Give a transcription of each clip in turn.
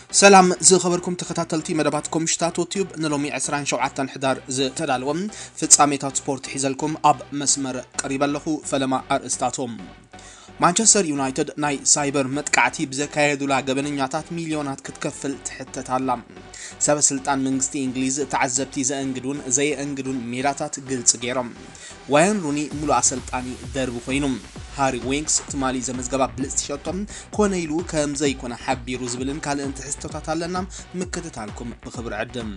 ሰላም ዝኸበርኩም ተኸታተልቲ መደባት ኮምሽታቶ ቲዩብ፣ ንሎሚ ዕስራን ሸውዓተን ሕዳር ዝተዳለወ ፍጻሜታት ስፖርት ሒዘልኩም ኣብ መስመር ቀሪበ ኣለኹ። ፈለማ ኣርእስታቶም። ማንቸስተር ዩናይትድ ናይ ሳይበር መጥቃዕቲ ብዘካየዱላ ገበነኛታት ሚልዮናት ክትከፍል ትሕተት ኣላ። ሰበ ስልጣን መንግስቲ እንግሊዝ ተዓዘብቲ ዘእንግዱን ዘየእንግዱን ሜዳታት ግልጺ ገይሮም። ዋየን ሩኒ ሙሉእ ኣሰልጣኒ ደርቢ ኮይኑ። ሃሪ ዊንክስ ትማሊ ዘመዝገባ ብልጽቲ ሸቶ ኮነ ኢሉ ከም ዘይኮነ ሓቢሩ ዝብልን ካልእን ትሕዝቶታት ኣለና። ምክትታልኩም ብኽብሪ ዕድም።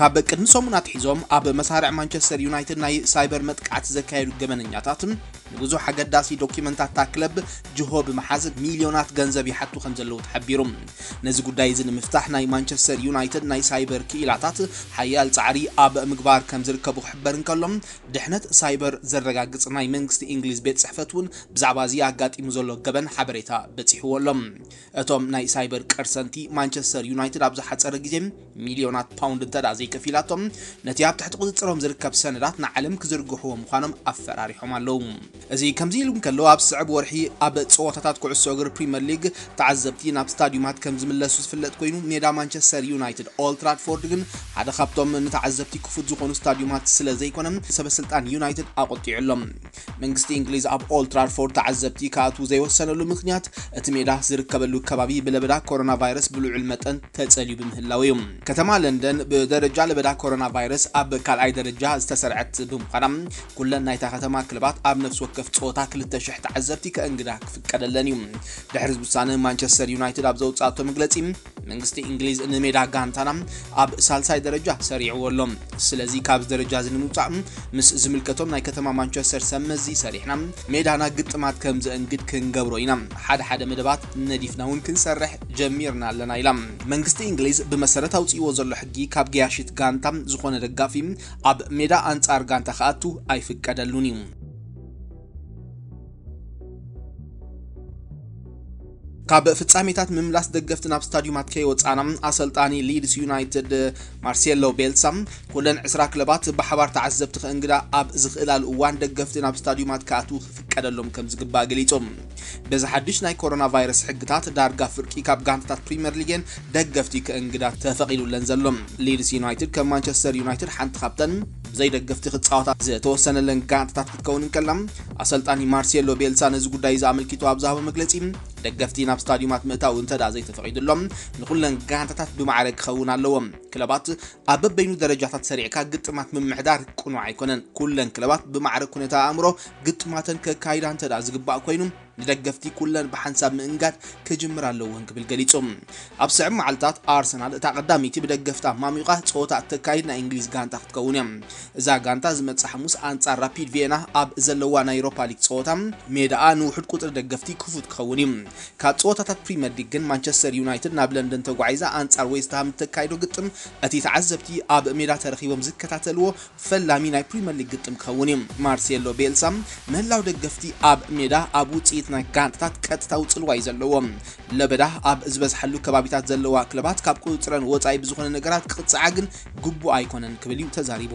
ካብ ቅድሚ ሰሙን ኣትሒዞም ኣብ መሳርዕ ማንቸስተር ዩናይትድ ናይ ሳይበር መጥቃዕቲ ዘካየዱ ገበነኛታት ንብዙሕ ኣገዳሲ ዶኪመንታት እታ ክለብ ጅሆ ብምሓዝ ሚልዮናት ገንዘብ ይሓቱ ከም ዘለዉ ተሓቢሩ። ነዚ ጉዳይ እዚ ንምፍታሕ ናይ ማንቸስተር ዩናይትድ ናይ ሳይበር ክኢላታት ሓያል ጻዕሪ ኣብ ምግባር ከም ዝርከቡ ክሕበር እንከሎ፣ ድሕነት ሳይበር ዘረጋግጽ ናይ መንግስቲ እንግሊዝ ቤት ጽሕፈት እውን ብዛዕባ እዚ ኣጋጢሙ ዘሎ ገበን ሓበሬታ በጺሕዎ ኣሎ። እቶም ናይ ሳይበር ቀርሰንቲ ማንቸስተር ዩናይትድ ኣብ ዝሓጸረ ግዜ ሚልዮናት ፓውንድ እንተ ደኣ ዘይከፊላቶም፣ ነቲ ኣብ ትሕቲ ቁጽጽሮም ዝርከብ ሰነዳት ንዓለም ክዝርግሕዎ ምዃኖም ኣፈራሪሖም ኣለዉ። እዚ ከምዚ ኢሉ እንከሎ፣ ኣብ ዝስዕብ ወርሒ ኣብ ጸወታታት ኩዕሶ እግሪ ፕሪምየር ሊግ ተዓዘብቲ ናብ ስታዲዩማት ከም ዝምለሱ ዝፍለጥ ኮይኑ፣ ሜዳ ማንቸስተር ዩናይትድ ኦልድ ትራድፎርድ ግን ሓደ ካብቶም ንተዓዘብቲ ክፉት ዝኾኑ ስታዲዩማት ስለ ዘይኮነ፣ ሰበ ስልጣን ዩናይትድ ኣቖጢዑ ኣሎ። መንግስቲ እንግሊዝ ኣብ ኦልድ ትራድፎርድ ተዓዘብቲ ክኣትዉ ዘይወሰነሉ ምኽንያት፣ እቲ ሜዳ ዝርከበሉ ከባቢ ብለበዳ ኮሮና ቫይረስ ብልዑል መጠን ተጸልዩ ብምህላው እዩ። ከተማ ለንደን ብደረጃ ለበዳ ኮሮና ቫይረስ ኣብ ካልኣይ ደረጃ ዝተሰርዐት ብምዃና፣ ኩለን ናይታ ከተማ ክለባት ኣብ ነፍሲ ወከፍ ጸወታ ክልተ ሽሕ ተዓዘብቲ ከእንግዳ ክፍቀደለን እዩ። ድሕሪ እዚ ውሳነ፣ ማንቸስተር ዩናይትድ ኣብ ዘውጽኣቶ መግለጺ፣ መንግስቲ እንግሊዝ ንሜዳ ጋንታና ኣብ ሳልሳይ ደረጃ ሰሪዕዎ ኣሎ። ስለዚ ካብዚ ደረጃ እዚ ንምውጻእ ምስ ዝምልከቶም ናይ ከተማ ማንቸስተር ሰብ መዚ ሰሪሕና፣ ሜዳና ግጥማት ከም ዘእንግድ ክንገብሮ ኢና። ሓደ ሓደ መደባት ነዲፍና እውን ክንሰርሕ ጀሚርና ኣለና ኢላ። መንግስቲ እንግሊዝ ብመሰረት ኣውጺእዎ ዘሎ ሕጊ ካብ ገያሺት ጋንታ ዝኾነ ደጋፊ ኣብ ሜዳ ኣንጻር ጋንታ ክኣቱ ኣይፍቀደሉን እዩ። ካብ ፍጻሜታት ምምላስ ደገፍቲ ናብ ስታዲዩማት ከይወጻና፣ ኣሰልጣኒ ሊድስ ዩናይትድ ማርሴሎ ቤልሳ፣ ኩለን ዕስራ ክለባት ብሓባር ተዓዘብቲ ከእንግዳ ኣብ ዝኽእላሉ እዋን፣ ደገፍቲ ናብ ስታዲዩማት ክኣትዉ ክፍቀደሎም ከም ዝግባእ ገሊጹ። በዚ ሓድሽ ናይ ኮሮና ቫይረስ ሕግታት፣ ዳርጋ ፍርቂ ካብ ጋንታታት ፕሪምየር ሊግን ደገፍቲ ከእንግዳ ተፈቒዱለን ዘሎ። ሊድስ ዩናይትድ ከም ማንቸስተር ዩናይትድ ሓንቲ ካብተን ብዘይ ደገፍቲ ክጻወታ ዝተወሰነለን ጋንታታት ክትከውን እንከላ፣ ኣሰልጣኒ ማርሴሎ ቤልሳ ነዚ ጉዳይ እዚ ኣመልኪቱ ኣብ ዝሃቦ መግለጺ፣ ደገፍቲ ናብ ስታዲዩማት ምእታው እንተ ደኣ ዘይተፈቒዱሎም፣ ንኹለን ጋንታታት ብማዕረ ክኸውን ኣለዎ። ክለባት ኣብ በበይኑ ደረጃታት ሰሪዕካ ግጥማት ምምሕዳር ቅኑዕ ኣይኮነን። ኩለን ክለባት ብማዕረ ኩነታ ኣእምሮ ግጥማተን ከካይዳ እንተ ደኣ ዝግባእ ኮይኑ፣ ንደገፍቲ ኩለን ብሓንሳብ ምእንጋድ ክጅምር ኣለወን ክብል ገሊጹ። ኣብ ዝስዕብ መዓልታት ኣርሰናል እታ ቀዳመይቲ ብደገፍታ ማሚቓ ጸወታ እተካይድ ናይ እንግሊዝ ጋንታ ክትከውን እያ። እዛ ጋንታ ዝመጽእ ሓሙስ ኣንጻር ራፒድ ቪየና ኣብ ዘለዋ ናይ ዩሮፓ ሊግ ጸወታ ሜዳኣ ንውሑድ ቁጽሪ ደገፍቲ ክፉት ክኸውን እዩ። ካብ ጸወታታት ፕሪምየር ሊግ ግን ማንቸስተር ዩናይትድ ናብ ለንደን ተጓዒዛ ኣንጻር ዌስትሃም እተካይዶ ግጥም እቲ ተዓዘብቲ ኣብ ሜዳ ተረኺቦም ዝከታተልዎ ፈላሚ ናይ ፕሪምየር ሊግ ግጥም ክኸውን እዩ። ማርሴሎ ቤልሳ ምህላው ደገፍቲ ኣብ ሜዳ ኣብ ውጽኢት ናይ ጋንታታት ቀጥታዊ ጽልዋ እዩ ዘለዎ። ለበዳ ኣብ ዝበዝሓሉ ከባቢታት ዘለዋ ክለባት ካብ ቁጽጽረን ወጻኢ ብዝኾነ ነገራት ክቕጽዓ ግን ግቡእ ኣይኮነን ክብል እዩ ተዛሪቡ።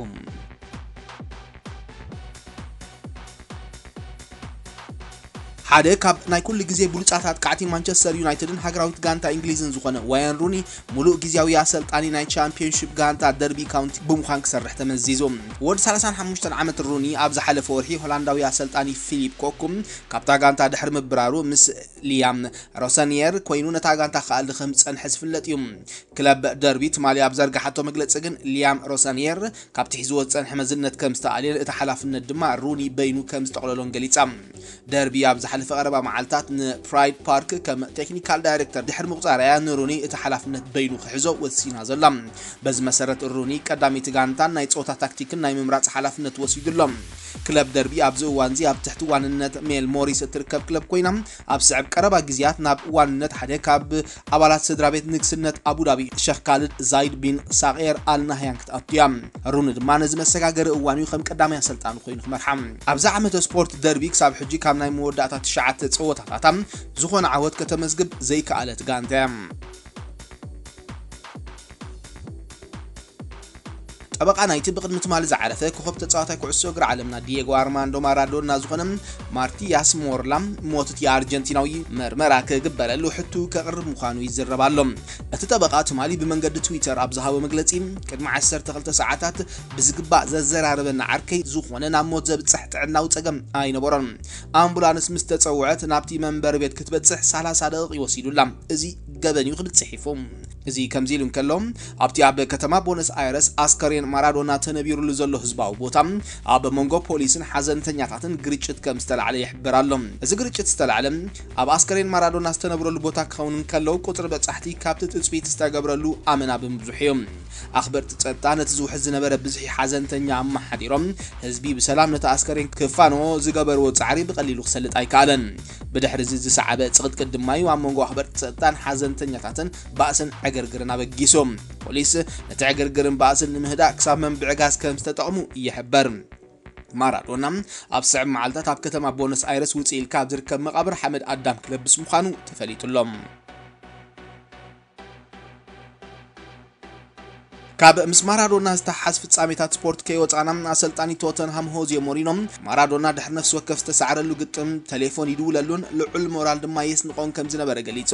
ሓደ ካብ ናይ ኩሉ ግዜ ብሉጻት ኣጥቃዕቲ ማንቸስተር ዩናይትድን ሃገራዊት ጋንታ እንግሊዝን ዝኾነ ዋያን ሩኒ፣ ሙሉእ ግዝያዊ ኣሰልጣኒ ናይ ቻምፒዮንሺፕ ጋንታ ደርቢ ካውንቲ ብምዃን ክሰርሕ ተመዚዙ። ወዲ ሰላሳን ሓሙሽተን ዓመት ሩኒ ኣብ ዝሓለፈ ወርሒ ሆላንዳዊ ኣሰልጣኒ ፊሊፕ ኮኩም ካብታ ጋንታ ድሕሪ ምብራሩ፣ ምስ ሊያም ሮሰኒየር ኮይኑ ነታ ጋንታ ክኣሊ ከም ዝጸንሐ ዝፍለጥ እዩ። ክለብ ደርቢ ትማሊ ኣብ ዘርጋሓቶ መግለጺ ግን፣ ሊያም ሮሰኒየር ካብቲ ሒዝዎ ዝጸንሐ መዝነት ከም ዝተኣልየን እቲ ሓላፍነት ድማ ሩኒ በይኑ ከም ዝጠቕለሎን ገሊጻ። ደርቢ ኣብ ዝሓለፈ ቀረባ መዓልታት ንፕራይድ ፓርክ ከም ቴክኒካል ዳይሬክተር ድሕሪ ምቑጻርያ፣ ንሩኒ እቲ ሓላፍነት በይኑ ክሕዞ ወሲና ዘላ። በዚ መሰረት፣ ሩኒ ቀዳመይቲ ጋንታን ናይ ጸወታ ታክቲክን ናይ ምምራጽ ሓላፍነት ወሲዱ ኣሎ። ክለብ ደርቢ ኣብዚ እዋንዚ ኣብ ትሕቲ ዋንነት ሜል ሞሪስ እትርከብ ክለብ ኮይና፣ ኣብ ዝስዕብ ቀረባ ግዜያት ናብ ዋንነት ሓደ ካብ ኣባላት ስድራ ቤት ንግስነት ኣቡዳቢ ሸኽ ካልድ ዛይድ ቢን ሳቄር ኣል ናህያን ክትኣቱ እያ። ሩኒ ድማ ነዚ መሰጋገሪ እዋን እዩ ከም ቀዳማይ ኣሰልጣኒ ኮይኑ ክመርሓ። ኣብዚ ዓመተ ስፖርት ደርቢ ክሳብ ሕጂ ካብ ናይ መወዳእታ ትሽዓተ ጸወታታታ ዝኾነ ዓወት ከተመዝግብ ዘይከኣለት ጋንታ እያ። ጠበቓ ናይቲ ብቕድሚ ትማሊ ዝዓረፈ ኮኸብ ተጻዋታይ ኩዕሶ እግሪ ዓለምና ዲየጎ ኣርማንዶ ማራዶና ዝኾነ ማርቲያስ ሞርላ፣ ሞት እቲ ኣርጀንቲናዊ መርመራ ክግበረሉ ሕቱ ከቕርብ ምዃኑ ይዝረብ ኣሎ። እቲ ጠበቓ ትማሊ ብመንገዲ ትዊተር ኣብ ዝሃቦ መግለጺ፣ ቅድሚ ዓሰርተ ክልተ ሰዓታት ብዝግባእ ዘዘራረበና ዓርከይ ዝኾነ ናብ ሞት ዘብጽሕ ጥዕናዊ ጸገም ኣይነበሮን። ኣምቡላንስ ምስ ተጸውዐት ናብቲ መንበሪ ቤት ክትበጽሕ ሰላሳ ደቂቕ ወሲዱላ። እዚ ገበን እዩ ክብል ጽሒፉ። እዚ ከምዚ ኢሉ እንከሎ፣ ኣብቲ ኣብ ከተማ ቦነስ ኣይረስ ኣስከሬን ማራዶና ተነቢሩሉ ዘሎ ህዝባዊ ቦታ፣ ኣብ መንጎ ፖሊስን ሓዘንተኛታትን ግርጭት ከም ዝተላዕለ ይሕበር ኣሎ። እዚ ግርጭት ዝተላዕለ ኣብ ኣስከሬን ማራዶና ዝተነብረሉ ቦታ ክኸውን እንከሎ፣ ቁጽሪ በጻሕቲ ካብቲ ትጽቢት ዝተገብረሉ ኣመና ብምብዝሑ እዮም። ኣኽበርቲ ጸጥታ ነቲ ዝውሕዝ ዝነበረ ብዝሒ ሓዘንተኛ ኣመሓዲሮም፣ ህዝቢ ብሰላም ነቲ ኣስከሬን ክፋንዎ ዝገበርዎ ጻዕሪ ብቐሊሉ ክሰልጥ ኣይከኣለን። ብድሕሪ እዚ ዝሰዓበ ጽቕጥቅጥ ድማ እዩ ኣብ መንጎ ኣኽበርቲ ጸጥታን ሓዘንተኛታትን ባእስን ዕግርግርን ኣበጊሱ። ፖሊስ ነቲ ዕግርግርን ባእስን ንምህዳእ ክሳብ መንብዒ ጋዝ ከም ዝተጠቕሙ ይሕበር። ማራዶና ኣብ ዝስዕብ መዓልታት ኣብ ከተማ ቦነስ ኣይረስ ውጽእ ኢልካ ኣብ ዝርከብ መቓብር ሓመድ ኣዳም ክለብስ ምዃኑ ተፈሊጡ ኣሎ። ካብ ምስ ማራዶና ዝተሓሓዝ ፍጻሜታት ስፖርት ከይወጻና፣ ኣሰልጣኒ ቶተንሃም ሆዜ ሞሪኖ፣ ማራዶና ድሕሪ ነፍሲ ወከፍ ዝተሳዕረሉ ግጥም ተሌፎን ይድውለሉን ልዑል ሞራል ድማ የስንቖን ከም ዝነበረ ገሊጹ።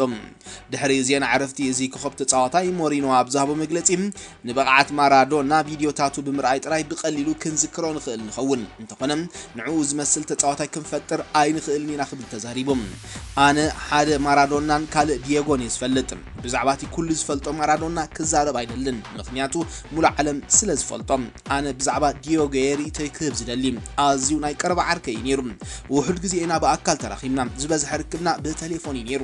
ድሕሪ ዜና ዕረፍቲ እዚ ኮኸብ ተጻዋታይ ሞሪኖ ኣብ ዝሃቦ መግለጺ፣ ንብቕዓት ማራዶና ቪድዮታቱ ብምርኣይ ጥራይ ብቐሊሉ ክንዝክሮ ንኽእል ንኸውን። እንተኾነ፣ ንዕኡ ዝመስል ተጻዋታይ ክንፈጥር ኣይንኽእልን ኢና ክብል ተዛሪቡ። ኣነ ሓደ ማራዶናን ካልእ ዲየጎን እየ ዝፈልጥ። ብዛዕባ እቲ ኩሉ ዝፈልጦ ማራዶና ክዛረብ ኣይደልን፣ ምኽንያቱ ሙሉእ ዓለም ስለ ዝፈልጦ። ኣነ ብዛዕባ ዲዮጎ እየ ርእይቶይ ክህብ ዝደሊ። ኣዝዩ ናይ ቀረባ ዓርከይ እዩ ነይሩ። ውሑድ ግዜ ኢና ብኣካል ተራኺብና። ዝበዝሐ ርክብና ብተሌፎን እዩ ነይሩ።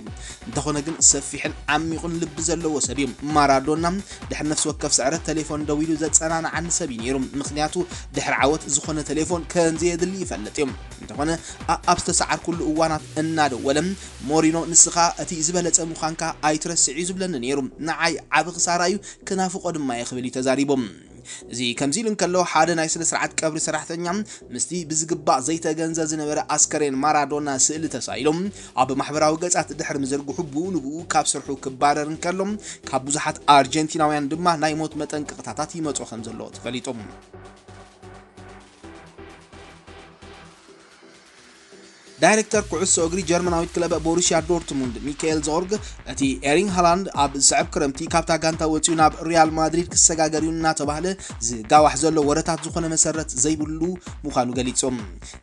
እንተኾነ ግን ሰፊሕን ዓሚቑን ልቢ ዘለዎ ሰብ እዩ። ማራዶና ድሕሪ ነፍሲ ወከፍ ስዕረት ተሌፎን ደዊሉ ዘጸናንዓኒ ሰብ እዩ ነይሩ። ምኽንያቱ ድሕሪ ዓወት ዝኾነ ተሌፎን ከም ዘየድሊ ይፈልጥ እዩ። እንተኾነ ኣ-፣ ኣብ ዝተሰዓርኩሉ እዋናት እናደወለ፣ "ሞሪኖ፣ ንስኻ እቲ ዝበለጸ ምዃንካ ኣይትረስዕ" እዩ ዝብለኒ ነይሩ። ንዓይ ዓቢ ክሳራ እዩ፣ ክናፍቖ ድማ እየ ክብል እዩ ተዛሪቡ። እዚ ከምዚ ኢሉ እንከሎ፣ ሓደ ናይ ስነ ስርዓት ቀብሪ ሰራሕተኛ ምስቲ ብዝግባእ ዘይተገንዘ ዝነበረ ኣስከሬን ማራዶና ስእሊ ተሳኢሉ ኣብ ማሕበራዊ ገጻት ድሕሪ ምዝርግሑ፣ ብኡ ንብኡ ካብ ስርሑ ክባረር እንከሎ፣ ካብ ብዙሓት ኣርጀንቲናውያን ድማ ናይ ሞት መጠንቀቕታታት ይመጾ ከም ዘሎ ተፈሊጡ። ዳይሬክተር ኩዕሶ እግሪ ጀርመናዊት ክለብ ቦሩሲያ ዶርትሙንድ ሚካኤል ዞርግ፣ እቲ ኤሪንግ ሃላንድ ኣብ ዝስዕብ ክረምቲ ካብታ ጋንታ ወጺኡ ናብ ሪያል ማድሪድ ክሰጋገር እዩ እናተባህለ ዝጋዋሕ ዘሎ ወረታት ዝኾነ መሰረት ዘይብሉ ምዃኑ ገሊጹ።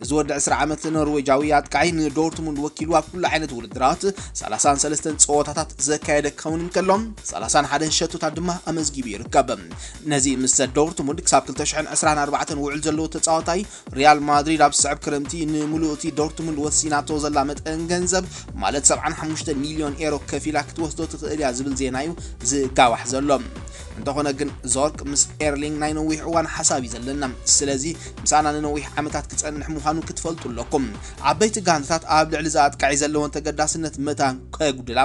እዚ ወዲ ዕስራ ዓመት ኖርዌጃዊ ኣጥቃዒ ንዶርትሙንድ ወኪሉ ኣብ ኩሉ ዓይነት ውድድራት ሰላሳን ሰለስተን ጸወታታት ዘካየደ ክኸውን እንከሎ፣ ሰላሳን ሓደን ሸቶታት ድማ ኣመዝጊቡ ይርከብ። ነዚ ምስ ዶርትሙንድ ክሳብ ክልተ ሽሕን ዕስራን ኣርባዕተን ውዕል ዘለዎ ተጻዋታይ፣ ሪያል ማድሪድ ኣብ ዝስዕብ ክረምቲ ንምሉእ እቲ ዶርትሙንድ ወሲናቶ ዘላ መጠን ገንዘብ፣ ማለት ሰብዓን ሓሙሽተ ሚልዮን ኤሮ ከፊላ ክትወስዶ ትኽእል እያ ዝብል ዜና እዩ ዝጋዋሕ ዘሎ። እንተኾነ ግን ዞርክ ምስ ኤርሊንግ ናይ ነዊሕ እዋን ሓሳብ እዩ ዘለና። ስለዚ ምሳና ንነዊሕ ዓመታት ክጸንሕ ምዃኑ ክትፈልጡ ኣለኩም። ዓበይቲ ጋንታታት ኣብ ልዕሊ እዚ ኣጥቃዒ ዘለወን ተገዳስነት መታን ከጉድላ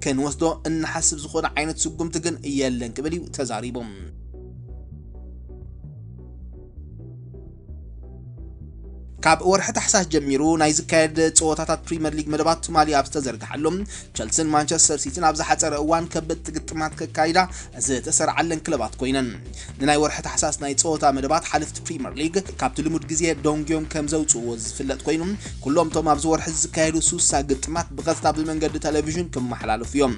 ክንወስዶ እንሓስብ ዝኾነ ዓይነት ስጉምቲ ግን የለን ክብል እዩ ተዛሪቡ። ካብ ወርሒ ታሕሳስ ጀሚሩ ናይ ዝካየድ ጸወታታት ፕሪምየር ሊግ መደባት ትማሊ ኣብ ዝተዘርግሓሉ፣ ቸልሲን ማንቸስተር ሲቲን ኣብ ዝሓጸረ እዋን ከበድቲ ግጥማት ከካይዳ ዝተሰርዓለን ክለባት ኮይነን። ንናይ ወርሒ ታሕሳስ ናይ ጸወታ መደባት ሓለፍቲ ፕሪምየር ሊግ ካብቲ ልሙድ ግዜ ዶንግዮም ከም ዘውጽእዎ ዝፍለጥ ኮይኑ፣ ኩሎም እቶም ኣብዚ ወርሒ ዝካየዱ ሱሳ ግጥማት ብቐጥታ ብመንገዲ ቴሌቪዥን ክመሓላለፉ እዮም።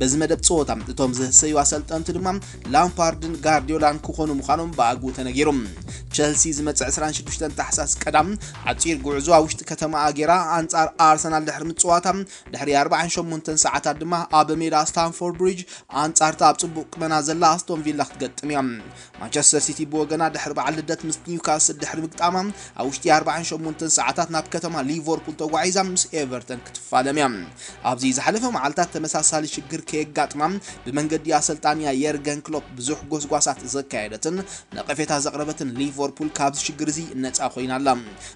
በዚ መደብ ጸወታ እቶም ዝህሰዩ ኣሰልጠንቲ ድማ ላምፓርድን ጋርዲዮላን ክኾኑ ምዃኖም ብኣግኡ ተነጊሩ። ቸልሲ ዝመጽእ ዕስራን ሽዱሽተን ታሕሳስ ቀዳም ዓጺር ጉዕዞ ኣብ ውሽጢ ከተማ ኣጌራ ኣንጻር ኣርሰናል ድሕሪ ምጽዋታ፣ ድሕሪ ኣርባዓን ሸሞንተን ሰዓታት ድማ ኣብ ሜዳ ስታንፎርድ ብሪጅ ኣንጻርታ ኣብ ጽቡቕ ቁመና ዘላ ኣስቶን ቪላ ክትገጥም እያ። ማንቸስተር ሲቲ ብወገና ድሕሪ በዓል ልደት ምስ ኒውካስል ድሕሪ ምግጣማ፣ ኣብ ውሽጢ ኣርባዓን ሸሞንተን ሰዓታት ናብ ከተማ ሊቨርፑል ተጓዒዛ ምስ ኤቨርተን ክትፋለም እያ። ኣብዚ ዝሓለፈ መዓልታት ተመሳሳሊ ሽግር ከየጋጥማ ብመንገዲ ኣሰልጣንያ የርገን ክሎፕ ብዙሕ ጎስጓሳት ዘካየደትን ነቐፌታ ዘቕረበትን ሊቨርፑል ካብዚ ሽግር እዚ ነጻ ኮይና ኣላ።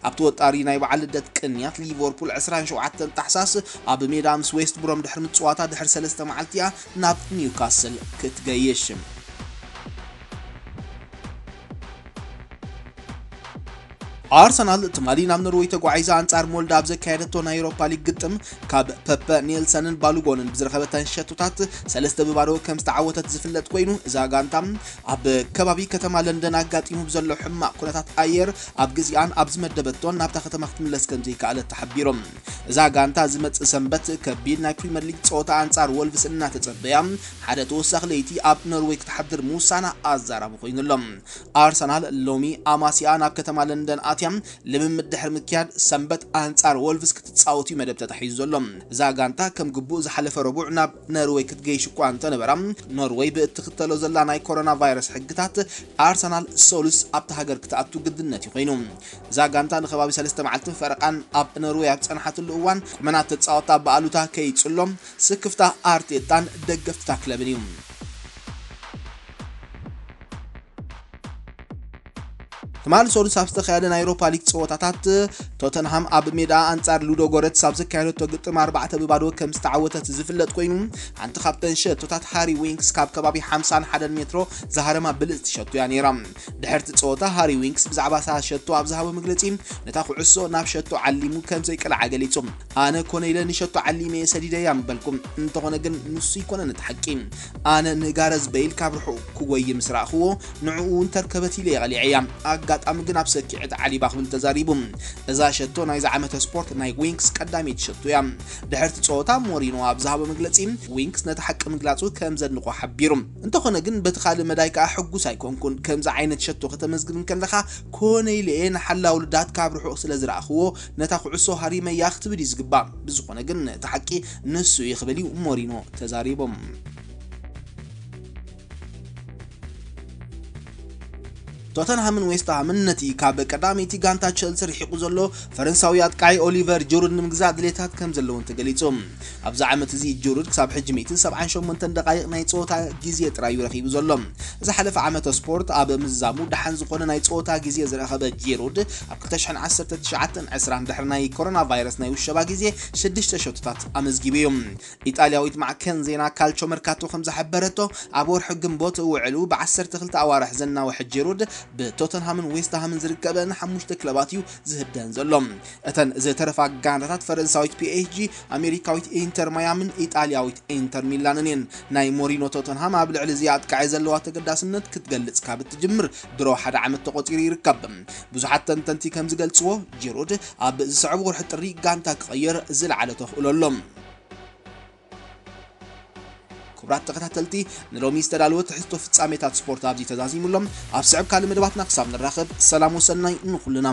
ኣብቲ ወጣሪ ናይ በዓል ልደት ቅንያት ሊቨርፑል ዕስራን ሸውዓተን ታሕሳስ ኣብ ሜዳ ምስ ዌስት ብሮም ድሕሪ ምጽዋታ ድሕሪ ሰለስተ መዓልቲ እያ ናብ ኒውካስል ክትገይሽ። ኣርሰናል ትማሊ ናብ ኖርወይ ተጓዒዛ ኣንጻር ሞልዳ ኣብ ዘካየደቶ ናይ ኤውሮፓ ሊግ ግጥም ካብ ፐፐ ኔልሰንን ባሉጎንን ብዝረኸበተን ሸቶታት ሰለስተ ብባዶ ከም ዝተዓወተት ዝፍለጥ ኮይኑ፣ እዛ ጋንታ ኣብ ከባቢ ከተማ ለንደን ኣጋጢሙ ብዘሎ ሕማቕ ኩነታት ኣየር ኣብ ግዜኣን ኣብ ዝመደበቶን ናብታ ከተማ ክትምለስ ከም ዘይከኣለት ተሓቢሮም። እዛ ጋንታ ዝመጽእ ሰንበት ከቢድ ናይ ፕሪምየር ሊግ ጸወታ ኣንጻር ወልቭስ እናተጸበያ ሓደ ተወሳኺ ለይቲ ኣብ ኖርወይ ክትሓድር ምውሳና ኣዛራቢ ኮይኑ ኣሎ። ኣርሰናል ሎሚ ኣማሲኣ ናብ ከተማ ለንደን ኣትያ ልምምድ ድሕሪ ምክያድ ሰንበት ኣንጻር ወልቭስ ክትጻወት እዩ መደብ ተታሒዙ ዘሎ። እዛ ጋንታ ከም ግቡእ ዝሓለፈ ረቡዕ ናብ ኖርወይ ክትገይሽ እኳ እንተነበራ፣ ኖርወይ ብእትኽተሎ ዘላ ናይ ኮሮና ቫይረስ ሕግታት ኣርሰናል ሰሉስ ኣብታ ሃገር ክትኣቱ ግድነት እዩ ኮይኑ። እዛ ጋንታ ንከባቢ ሰለስተ መዓልትን ፈረቓን ኣብ ኖርወይ ኣብ ጸንሓትሉ እዋን፣ ቁመናት ተጻወታ ብኣሉታ ከይጽሎም ስክፍታ ኣርቴታን ደገፍትታ ክለብን እዩ። ትማሊ ሰሉስ ኣብ ዝተኻየደ ናይ ኤውሮፓ ሊግ ጸወታታት፣ ቶተንሃም ኣብ ሜዳ ኣንጻር ሉዶ ጎረትስ ኣብ ዘካየደቶ ግጥም ኣርባዕተ ብባዶ ከም ዝተዓወተት ዝፍለጥ ኮይኑ፣ ሓንቲ ካብተን ሸቶታት ሃሪ ዊንክስ ካብ ከባቢ ሓምሳን ሓደን ሜትሮ ዝሃረማ ብልጽቲ ሸቶ እያ ነይራ። ድሕርቲ ጸወታ ሃሪ ዊንክስ ብዛዕባ እታ ሸቶ ኣብ ዝሃቦ መግለጺ፣ ነታ ኩዕሶ ናብ ሸቶ ዓሊሙ ከም ዘይቀልዓ ገሊጹ። ኣነ ኮነ ኢለ ንሸቶ ዓሊመ እየ ሰዲደያ ምበልኩም። እንተኾነ ግን ንሱ ኣይኮነን እቲ ሓቂ። ኣነ ንጋረዝ በይል ካብ ርሑቕ ክጎይ ምስ ረኣኽዎ፣ ንዕኡ እውን ተርከበት ኢለ እየ ቀሊዐያ። ኣጋጣሚ ግን ኣብ ሰኪዐት ዓሊባ ክብል ተዛሪቡ። እዛ ሸቶ ናይዚ ዓመተ ስፖርት ናይ ዊንክስ ቀዳመይቲ ሸቶ እያ። ድሕርቲ ጸወታ ሞሪኖ ኣብ ዝሃቦ መግለጺ፣ ዊንክስ ነቲ ሓቂ ምግላጹ ከም ዘድንቖ ሓቢሩ። እንተኾነ ግን በቲ ካልእ መዳይ ከኣ ሕጉስ ኣይኮንኩን። ከምዚ ዓይነት ሸቶ ከተመዝግብ እንከለኻ ኮነ ኢለ እየ ንሓላው ልዳት ካብ ርሑቕ ስለ ዝረኣኽዎ ነታ ኩዕሶ ሃሪመያ ክትብል እዩ ዝግባእ። ብዝኾነ ግን እቲ ሓቂ ንሱ እዩ ክብል እዩ ሞሪኖ ተዛሪቡ። ቶተንሃምን ዌስትሃምን ነቲ ካብ ቀዳመይቲ ጋንታ ቸልሲ ርሒቑ ዘሎ ፈረንሳዊ ኣጥቃዒ ኦሊቨር ጅሩድ ንምግዛእ ድሌታት ከም ዘለውን ተገሊጹ። ኣብዚ ዓመት እዚ ጅሩድ ክሳብ ሕጂ ሚእትን ሰብዓን ሸሞንተን ደቃይቕ ናይ ጸወታ ግዜ ጥራይ እዩ ረኺቡ ዘሎ። ዝሓለፈ ዓመተ ስፖርት ኣብ ምዝዛሙ ደሓን ዝኾነ ናይ ጸወታ ግዜ ዝረኸበ ጅሩድ፣ ኣብ ክልተ ሽሕን ዓሰርተ ትሽዓተን ዕስራን ድሕሪ ናይ ኮሮና ቫይረስ ናይ ውሸባ ግዜ ሽዱሽተ ሸቶታት ኣመዝጊቡ እዩ። ኢጣልያዊት ማዕከን ዜና ካልቾ መርካቶ ከም ዝሓበረቶ፣ ኣብ ወርሒ ግንቦት ውዕሉ ብዓሰርተ ክልተ ኣዋርሕ ዘናውሐ ጂሩድ፣ ብቶተንሃምን ዌስትሃምን ዝርከበ ንሓሙሽተ ክለባት እዩ ዝህደን ዘሎ። እተን ዝተረፋ ጋንታታት ፈረንሳዊት ፒ ኤስ ጂ፣ ኣሜሪካዊት ኢንተር ማያምን ኢጣልያዊት ኢንተር ሚላንን እየን። ናይ ሞሪኖ ቶተንሃም ኣብ ልዕሊ እዚ ኣጥቃዒ ዘለዋ ተገዳስነት ክትገልጽ ካብ እትጅምር ድሮ ሓደ ዓመት ተቖጺሩ ይርከብ። ብዙሓት ተንተንቲ ከም ዝገልጽዎ፣ ጂሩድ ኣብ ዝስዕብ ወርሒ ጥሪ ጋንታ ክቐይር ዝለዓለ ተኽእሎ ኣሎ። ክቡራት ተኸታተልቲ፣ ንሎሚ ዝተዳለወ ትሕዝቶ ፍጻሜታት ስፖርት ኣብዚ ተዛዚሙ ኣሎ። ኣብ ስዕብ ካልእ መደባትና ክሳብ ንራኸብ፣ ሰላም ወሰናይ ንኹልና።